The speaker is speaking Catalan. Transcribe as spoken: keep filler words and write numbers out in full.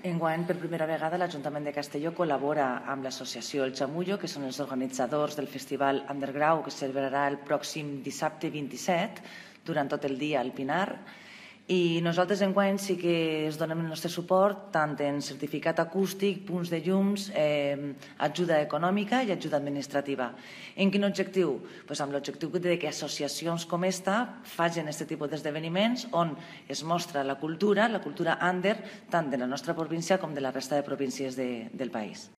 Enguany, per primera vegada, l'Ajuntament de Castelló col·labora amb l'associació El Chamullo, que són els organitzadors del Festival Underground, que es celebrarà el pròxim dissabte vint-i-set, durant tot el dia al Pinar. I nosaltres enguany sí que es donem el nostre suport tant en certificat acústic, punts de llums, eh, ajuda econòmica i ajuda administrativa. En quin objectiu? Pues amb l'objectiu de que associacions com esta facin aquest tipus d'esdeveniments on es mostra la cultura, la cultura under, tant de la nostra província com de la resta de províncies de, del país.